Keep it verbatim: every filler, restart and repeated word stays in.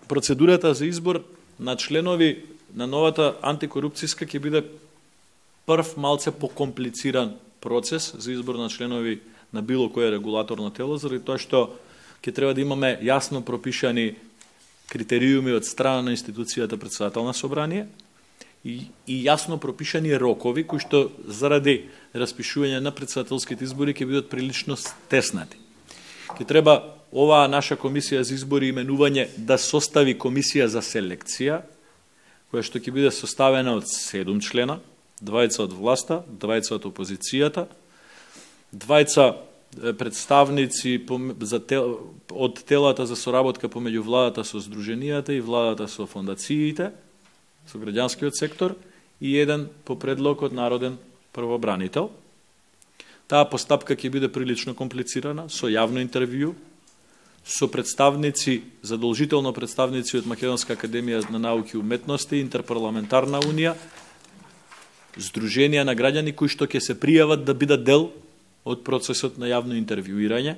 процедурата за избор на членови на новата антикорупцијска ќе биде прв малце покомплициран процес за избор на членови на било кое регулаторно тело, заради тоа што ќе треба да имаме јасно пропишани критериуми од страна на институцијата председател на собрание и, и јасно пропишани рокови кои што заради распишување на председателските избори ќе бидат прилично стеснати. Ќе треба оваа наша комисија за избори и именување да состави комисија за селекција, која што ќе биде составена од седум члена, двајца од власта, двајца од опозицијата, двајца представници за тел, од телата за соработка помеѓу владата со здруженијата и владата со фондациите, со граѓанскиот сектор и еден по предлог од народен првобранител. Таа постапка ќе биде прилично комплицирана, со јавно интервју, со представници, задолжително представници од Македонска академија на науки и уметности, Интерпарламентарна унија, здруженија на граѓани кои што ќе се пријават да бидат дел од процесот на јавно интервјуирање